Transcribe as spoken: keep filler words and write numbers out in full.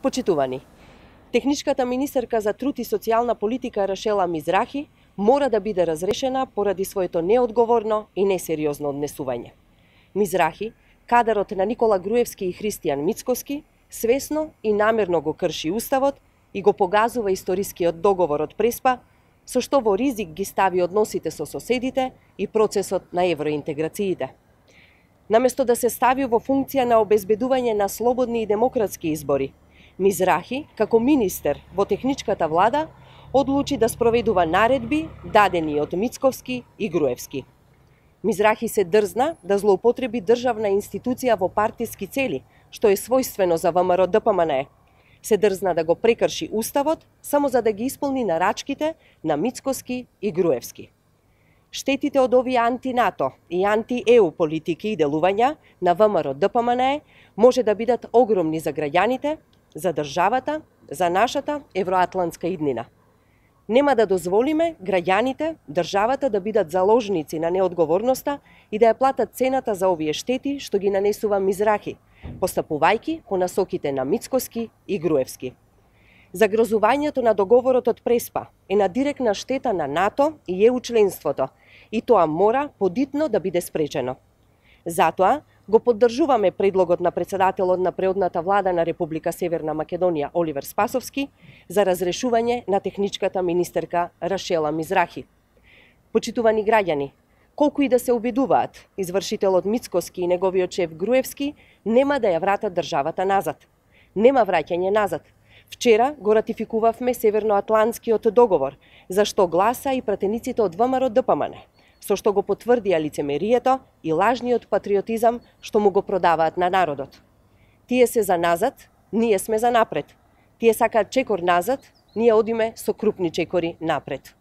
Почитувани, техничката министерка за труд и социјална политика Рашела Мизрахи мора да биде разрешена поради своето неодговорно и несериозно однесување. Мизрахи, кадарот на Никола Груевски и Христијан Мицкоски, свесно и намерно го крши уставот и го погазува историскиот договор од Преспа, со што во ризик ги стави односите со соседите и процесот на евроинтеграциите. Наместо да се стави во функција на обезбедување на слободни и демократски избори, Мизрахи, како министер во техничката влада, одлучи да спроведува наредби дадени од Мицковски и Груевски. Мизрахи се дрзна да злоупотреби државна институција во партиски цели, што е својствено за ВМРО Д П М Н Е. Се дрзна да го прекрши уставот само за да ги исполни нарачките на Мицкоски и Груевски. Штетите од овие анти-НАТО и анти-Е У политики и делувања на ВМРО Д П М Н Е може да бидат огромни за граѓаните, за државата, за нашата евроатлантска иднина. Нема да дозволиме граѓаните, државата да бидат заложници на неодговорноста и да ја платат цената за овие штети што ги нанесува Мизрахи, постапувајќи по насоките на Мицкоски и Груевски. Загрозувањето на договорот од Преспа е на директна штета на НАТО и Е У членството и тоа мора подитно да биде спречено. Затоа го поддржуваме предлогот на председателот на преодната влада на Република Северна Македонија Оливер Спасовски за разрешување на техничката министерка Рашела Мизрахи. Почитувани граѓани, колку и да се обидуваат, извршителот Мицкоски и неговиот шеф Груевски нема да ја вратат државата назад. Нема враќање назад. Вчера го ратификувавме Северноатлантскиот договор, за што гласа и пратениците од ВМРО Д П М Н Е, со што го потврдија лицемерието и лажниот патриотизам што му го продаваат на народот. Тие се за назад, ние сме за напред. Тие сакаат чекор назад, ние одиме со крупни чекори напред.